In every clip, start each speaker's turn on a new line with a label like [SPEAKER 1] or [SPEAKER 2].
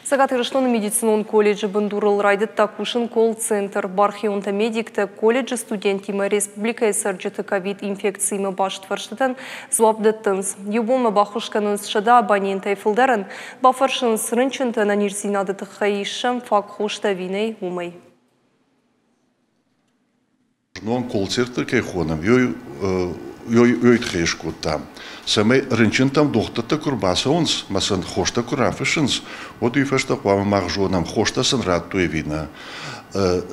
[SPEAKER 1] Цӕгат Ирыстоны медицинон колледжы бындурыл райдыдта кусын колл-центр. Бархионтӕ-медиктӕ колледжы студенттимӕ республикӕйы цӕрджыты ковид-инфекциимӕ баст фӕрстытӕн дзуапп дӕттынц. Иу бонмӕ баххуыс кӕнынц 100 абонентӕй фылдӕрӕн, бафӕрсынц рынчынты ӕнӕниздзинады тыххӕй, ис сӕм фаг хостӕ ӕви нӕй, уымӕй.
[SPEAKER 2] Знон колл-центр кӕй хонӕм, уый тыххӕй скодтам, цӕмӕй рынчынтӕм дохтыртӕ куы рбацӕуынц ӕмӕ сын хостӕ куы рафыссынц, уӕд уый фӕстӕ хъуамӕ мах зонӕм, хостӕ сын радтой ӕви нӕ.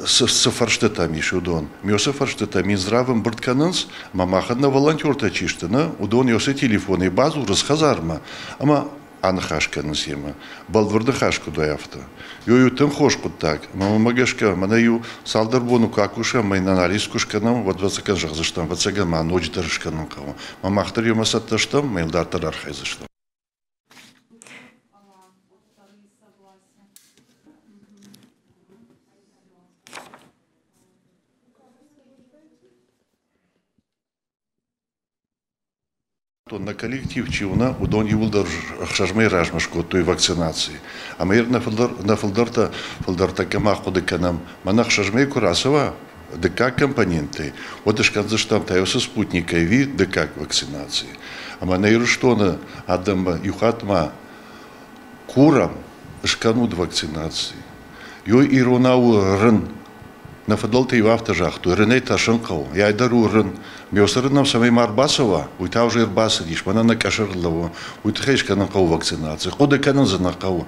[SPEAKER 2] Цы фӕрстытӕм ис, уыдон. Мёсы фӕрстытӕ Минздрав ӕмбырд кӕнынц, ӕмӕ махӕн нӕ волонтертӕ чи сты, нӕ, уыдон ёсы телефонӕй бадзурынц хӕдзармӕ ӕмӕ аныхас кӕнынц йемӕ. Бӕлвырд ныхас куыд уай, афтӕ. Ё тынг хорз хъуыддаг. Ӕмӕ мӕмӕ гӕсгӕ, мӕнӕ иу цалдӕр боны куы акусӕм ӕмӕ йын анализ куы скӕнӕм, уӕд ӕвӕццӕгӕн зӕгъдзыстӕм, ӕвӕццӕгӕн ма ноджыдӕр скӕнын хъӕуы. Ӕмӕ мах дӕр йемӕ цӕттӕ стӕм, ӕмӕ йыл дарддӕр архайдзыстӕм. Нӕ коллектив чи у, нӕ, уыдон иууылдӕр 6 мӕйы размӕ скодтой вакцинаци. Ӕмӕ ир нӕ фылдӕртӕ, фылдӕртӕ кӕм ахъуыды кӕнӕм, мӕнӕ 6 мӕйы куы рацӕуа дыккаг компонентӕй, уӕд скӕндзыстӕм та уыцы спутникӕй ӕви дыккаг вакцинаци. Ӕмӕ нӕ Ирыстоны адӕммӕ иу хатт ма курӕм, скӕнут вакцинаци. Ёй иронау рын. Нӕ фыдӕлтӕ-иу афтӕ загътой, рынӕй тӕрсын хъӕуы, йай дӕр у рын. Мёсы рын нӕм цӕмӕй ма ӕрбацӕуа, уый та уже ӕрбацыдис, мӕнӕ нӕ къӕсӕрыл лӕууы. Уый тыххӕй скӕнын хъӕуы вакцинаци. Хъуыды кӕнын дзы нӕ хъӕуы.